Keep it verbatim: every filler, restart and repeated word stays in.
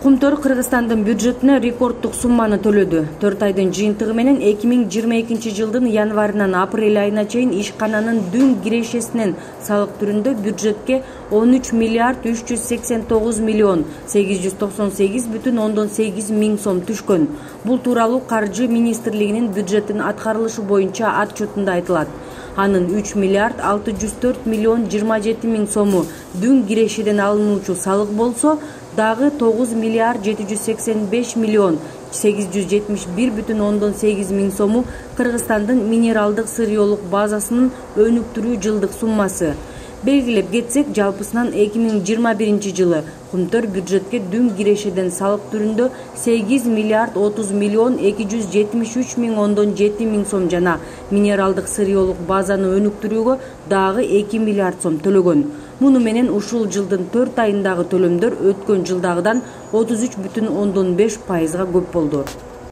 Кумтөр Кыргызстандын бюджетине рекорддук сумманы төлөдү. төрт айдын жыйынтыгы менен эки миң жыйырма экинчи жылдын январынан апрель айына чейин ишкананын дүң кирешесинен салык түрүндө бюджетке он үч миллиард үч жүз сексен тогуз миллион сегиз жүз токсон сегиз бүтүн ондон сегиз миң сом түшкөн. Бул тууралуу Каржы министрлигинин бюджеттин аткарылышы боюнча отчетунда айтылат. Анын үч миллиард алты жүз төрт миллион жыйырма жети миң сому дүң кирешеден алынуучу салык болсо, дагы тогуз миллиард жети жүз сексен беш миллион сегиз жүз жетимиш бир бүтүн ондон сегиз миң сому Кыргызстандын минералдык сырьеолук базасынын өнүктүрүү жылдык суммасы. Белгилеп кетсек, жалпысынан эки миң жыйырма биринчи жылы Кумтөр бюджетке дүң кирешеден салык түрүндө сегиз миллиард отуз миллион эки жүз жетимиш үч миң ондон жети миң сом жана минералдык сырьеолук базаны өнүктүрүүгө дагы эки миллиард сом төлөгөн. Муну менен ушул жылдын төрт айындагы төлөмдөр өткөн жылдагыдан отуз үч бүтүн ондон беш пайызга көп болду.